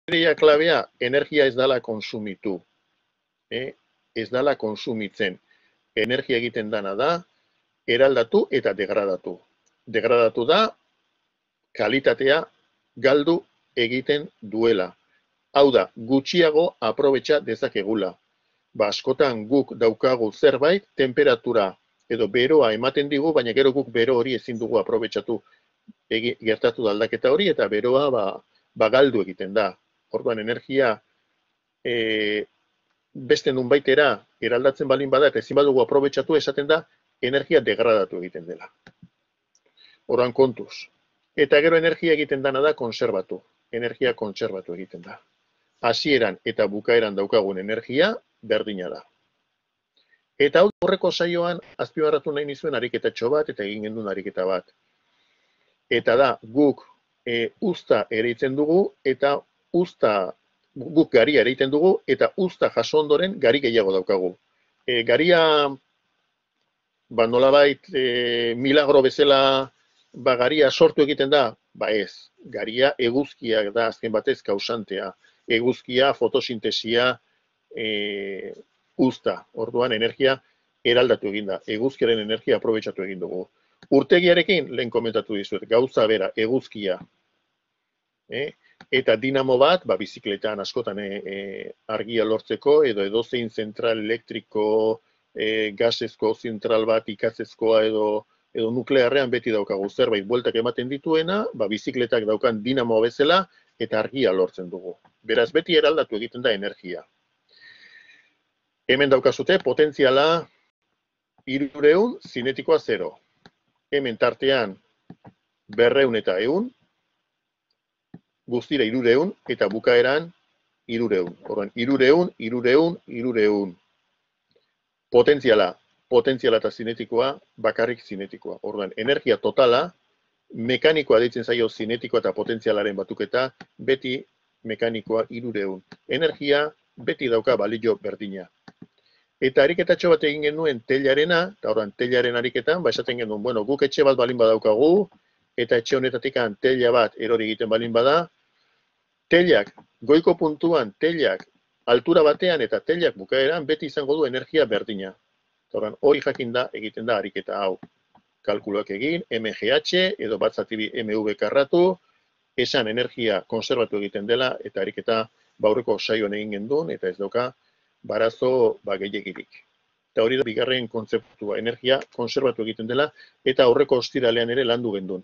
ideia klabea, energia ez dala konsumitu. Ez dala konsumitzen. Energia egiten dana da, eraldatu eta degradatu. Degradatu da, kalitatea galdu egiten duela. Hau da, gutxiago aprobetxa dezakegula. Askotan guk daukagu zerbait, temperatura edo beroa ematen digu, baina gero guk bero hori ezin dugu aprobetxatu gertatu da aldaketa hori, eta beroa galdu egiten da. Orduan, energia beste nunbaitera eraldatzen balin bada, eta ezin badugu aprobetxatu, esaten da, energia degradatu egiten dela. Orduan, kontuz. Eta gero energia egiten dana da konserbatu. Energia kontserbatu egiten da. Hasieran eta bukaeran daukagun energia berdina da. Eta hau horreko saioan azpimarratu nahi nizuen ariketatxo bat eta egin gendun ariketa bat. Eta da, guk uzta ereitzen dugu eta guk garia ereiten dugu eta uzta jaso ondoren gari gehiago daukagu. Garia nolabait milagro bezala garia sortu egiten da? Ez. Garia eguzkiak da azken batez kausantea. Eguzkia, fotosintesia, uzta. Orduan energia eraldatu egin da. Eguzkiaren energia aprobetxatu egin dugu. Urtegiarekin, lehen komentatu dizuet, gauza bera, eguzkia. Eta dinamo bat, bizikletan askotan argia lortzeko, edo edozein zentral elektriko, gasezko zentral bat ikatzezkoa edo nuklearrean beti daukagu zerbait bueltak ematen dituena, bizikletak daukan dinamo bezala eta argia lortzen dugu. Beraz, beti eraldatu egiten da energia. Hemen daukazute, potentziala 300, zinetikoa 0. Hemen tartean 200 eta 100, guztira 300, eta bukaeran 300. Horren, 300, 300, 300. Potentziala eta zinetikoa, bakarrik zinetikoa. Orduan, energia totala, mekanikoa deitzen zaio zinetikoa eta potentzialaren batuketa, beti mekanikoa 300. Energia beti dauka balio berdina. Eta ariketatxo bat egin genuen telarena, eta orduan telaren ariketan, esaten genuen, guk etxe bat balin badaukagu, eta etxe honetatik tela bat erori egiten balin bada, telak, goiko puntuan telak, altura batean eta telak bukaeran, beti izango du energia berdina. Hori jakin da, egiten da ariketa hau. Kalkuloak egin, MGH edo batzatibi MV karratu, esan energia konserbatu egiten dela, eta ariketa aurreko saioan egin gendun, eta ez dauka barazo gehiagirik. Eta hori da bigarren kontzeptua, energia konserbatu egiten dela, eta aurreko ostiralean ere landu gendun.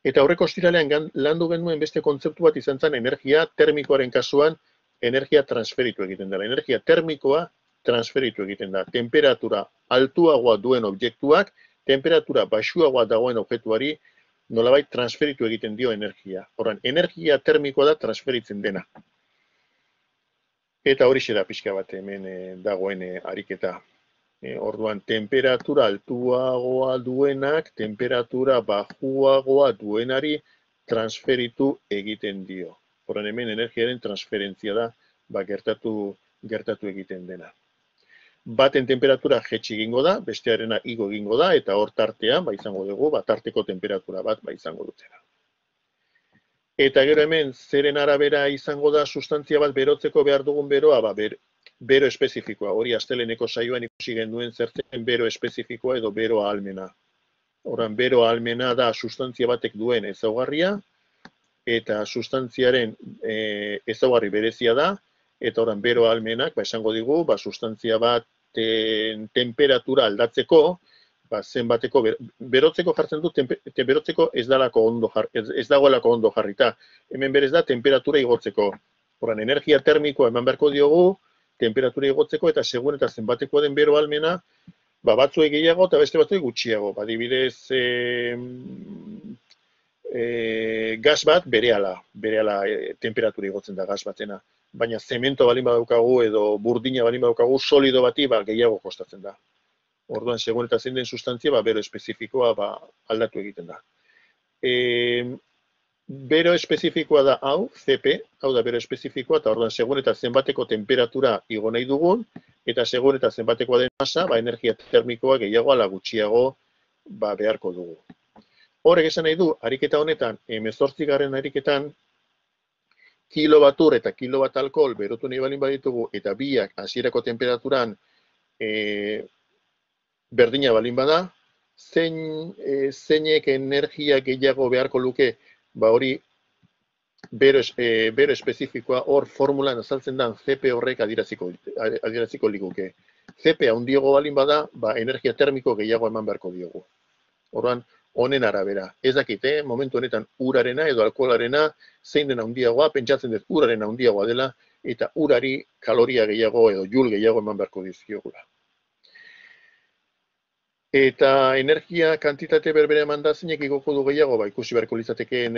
Eta aurreko ostiralean landu genduen beste kontzeptu bat izan zen energia termikoaren kasuan, energia transferitu egiten dela. Energia termikoa transferitu egiten da. Temperatura altuagoa duen objektuak, temperatura baxuagoa dagoen objektuari nolabait transferitu egiten dio energia. Horren, energia termikoa da transferitzen dena. Eta hori da pixka bat hemen dagoen ariketa. Orduan, temperatura altuagoa duenak, temperatura baxuagoa duenari transferitu egiten dio. Horren, hemen energiaren transferentzia da gertatu egiten dena. Baten temperatura jetxi egingo da, bestearena igo egingo da, eta hor tartean izango dugu, tarteko temperatura bat izango dutela. Eta gero hemen, zeren arabera izango da sustantzia bat berotzeko behar dugun beroa, bero espezifikoa. Hori asteleneko saioan ikusi genduen zertzen bero espezifikoa edo bero ahalmena. Horren, bero ahalmena da sustantzia batek duen ezaugarria, eta sustantziaren ezaugarri berezia da, eta horren bero ahalmenak, esango digu, sustantzia bat temperatura aldatzeko, zenbateko, berotzeko jartzen du, berotzeko ez dagoelako ondo jarrita. Hemen berez da, temperatura igotzeko. Horren, energia termikoa eman beharko diogu, temperatura igotzeko, eta segun eta zenbateko den bero ahalmena, batzuek gehiago eta beste batzuek gutxiago. Adibidez, gas bat berehala temperatura igotzen da gas batena. Baina zemento balin badaukagu edo burdina balin badaukagu solido bati gehiago kostatzen da. Orduan, segun eta zein den sustantzia, bero espezifikoa aldatu egiten da. Bero espezifikoa da hau, CP, hau da bero espezifikoa, eta orduan, segun eta zenbateko temperatura igo nahi dugun, eta segun eta zenbatekoa den masa, energia termikoa gehiago ala gutxiago beharko dugu. Horrek esan nahi du, ariketa honetan, 18. ariketan, kilobat ur eta kilobat alkohol berotu nahi balin baditugu, eta biak hasierako temperaturan berdina balin bada, zeinek energia gehiago beharko luke, ba hori bero espezifikoa hor formulan azaltzen da CP horrek adieraziko liguke. CP handiago balin bada, ba energia termiko gehiago eman beharko diogu. Orduan, honen arabera. Ez dakit, momentu honetan urarena edo alkoholarena zein den handiagoa, pentsatzen dut uraren handiagoa dela, eta urari kaloria gehiago edo jul gehiago eman beharko dizkiogula. Eta energia kantitate berbera eman da zeinek igoko du gehiago, ba ikusi beharko litzateke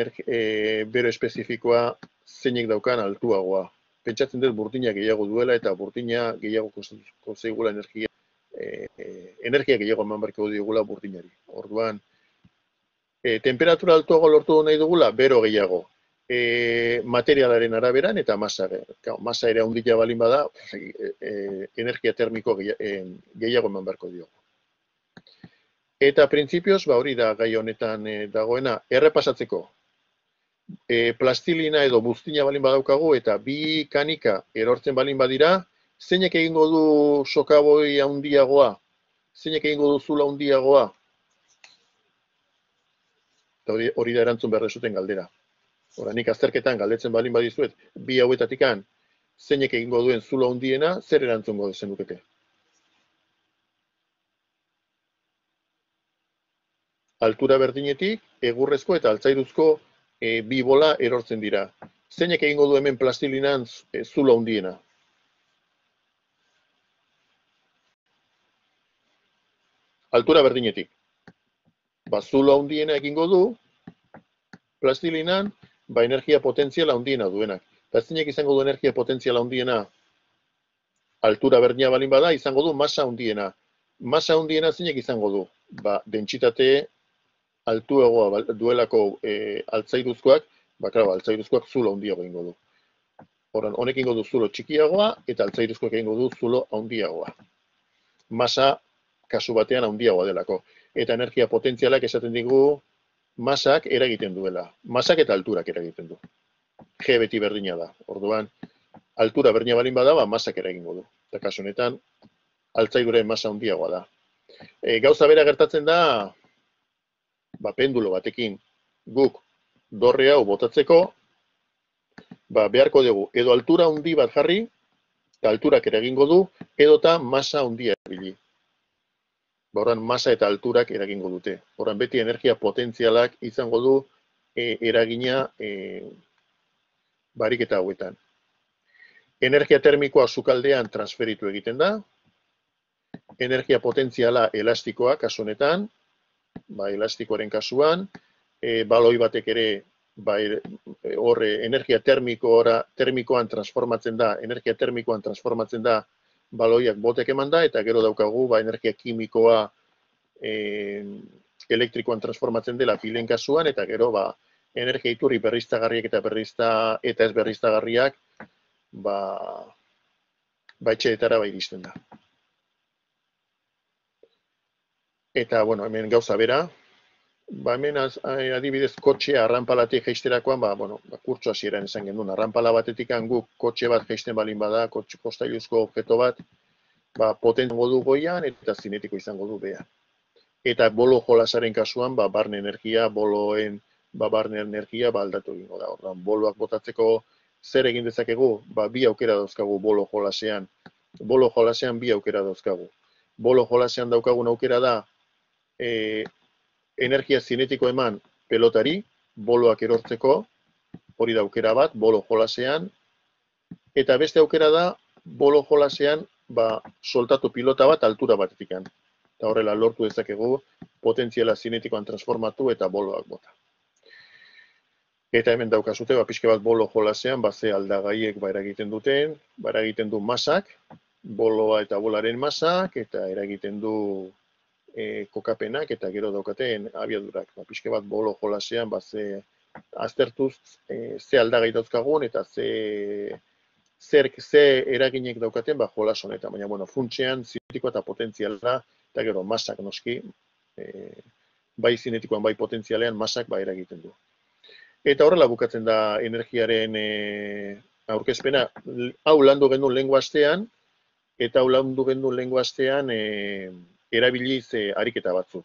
bero espezifikoa zeinek daukan altuagoa. Pentsatzen dut burdina gehiago duela eta burdina gehiago kostatuko zaigula energia gehiago eman beharko digula burdinari. Orduan, temperatura altuago lortu nahi dugula, bero gehiago. Materialaren araberan eta masa. Masa ere handia balin bada, energia termiko gehiago eman beharko diogu. Eta printzipioz, ba hori da gai honetan dagoena, errepasatzeko. Plastilina edo buztina balin badaukagu eta bi kanika erortzen balin badira, zeinek egingo du sokaboi handiagoa? Zeinek egingo du zula handiagoa? Hori da erantzun behar zuten galdera. Hora, nik azterketan galdetzen balin badizuet, bi hauetatikan zeinek egingo duen zula handiena, zer erantzungo zenukete? Altura berdinetik, egurrezko eta altzairuzko bi bola erortzen dira. Zeinek egingo du hemen plastilinan zula handiena? Altura berdinetik. Ba, zula handiena egingo du, plastilinan, ba, energia potentziala handiena duenak. Eta zeinek izango du energia potentziala handiena? Altura berdina balin bada, izango du masa handiena. Masa handiena zeinek izango du? Ba, dentsitate altuagoa duelako altzairuzkoak, ba, klaro, altzairuzkoak zulo handiago egingo du. Horan, honek egingo du zulo txikiagoa, eta altzairuzkoak egingo du zulo handiagoa. Masa, kasu batean handiagoa delako. Eta energia potentzialak esaten digu, masak eragiten duela. Masak eta alturak eragiten du. G beti berdina da. Orduan, altura berdina balin bada, ba, masak eragingo du. Eta kasu honetan, altzairuren masa handiagoa da. Gauza bera gertatzen da, ba, pendulo batekin guk dorre hau botatzeko, ba, beharko dugu edo altura handi bat jarri, eta alturak eragingo du, edota masa handia erabili. Ba, horan masa eta alturak eragingo dute. Horan beti energia potentzialak izango du eragina bariketa hauetan. Energia termikoa sukaldean transferitu egiten da, energia potentziala elastikoa kasu honetan, ba, elastikoaren kasuan, baloi batek ere horre energia termikoan transformatzen da, energia termikoan transformatzen da baloiak botek eman da, eta gero daukagu ba, energia kimikoa elektrikoan transformatzen dela pilen kasuan, eta gero ba, energia iturri berriztagarriak eta ez berriztagarriak ba etxeetara iristen da. Eta, bueno, hemen gauza bera, ba, hemen adibidez kotxea arranpalatik jeisterakoan, ba, bueno, kurtso hasieran esan gendun, arranpala batetik guk kotxe bat jeisten balin bada, postailuzko objeto bat, ba, potentzango du goian eta zinetiko izango du beha. Eta bolo jolasaren kasuan, ba, barne energia, barne energia aldatu egingo da. Ordan, boloak botatzeko zer egin dezakegu, ba, bi aukera dauzkagu bolo jolasean. Bolo jolasean bi aukera dauzkagu. Bolo jolasean daukagun aukera da, energia zinetiko eman pelotari, boloak erortzeko, hori da aukera bat, bolo jolasean, eta beste aukera da, bolo jolasean, ba, soltatu pilota bat altura batetik. Eta horrela lortu dezakegu, potentziala zinetikoan transformatu eta boloak bota. Eta hemen daukazute, ba, pixke bat bolo jolasean, ba, ze aldagaiek ba, eragiten duten, ba, eragiten du masak, boloa eta bolaren masak, eta eragiten du kokapenak eta gero daukaten abiadurak. Ba, pixke bat bolo jolasean, ba, aztertuz ze aldagai dauzkagun eta ze eraginek daukaten ba, jolas honetan. Baina, bueno, funtsean zinetikoa eta potentziala, eta gero masak noski, bai zinetikoan bai potentzialean masak ba, eragiten du. Eta horrela bukatzen da energiaren aurkezpena. Hau landu genuen lehengo astean, eta hau landu genuen lehengo astean erabiliz ariketa batzuk.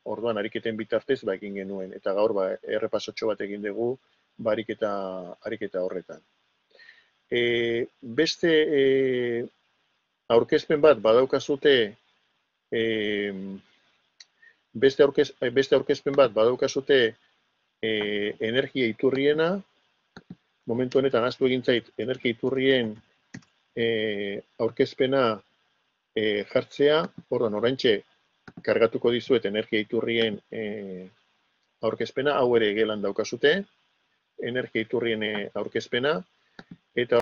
Orduan, ariketen bitartez egin genuen, eta gaur errepasotxo bat egin dugu ariketa horretan. Beste aurkezpen bat badaukazute, beste aurkezpen bat badaukazute energia iturriena, momentu honetan ahaztu egin zait, energia iturrien aurkezpena jartzea, orduan oraintxe kargatuko dizuet energia iturrien aurkezpena, hau ere gelan daukazute, energia iturrien aurkezpena, eta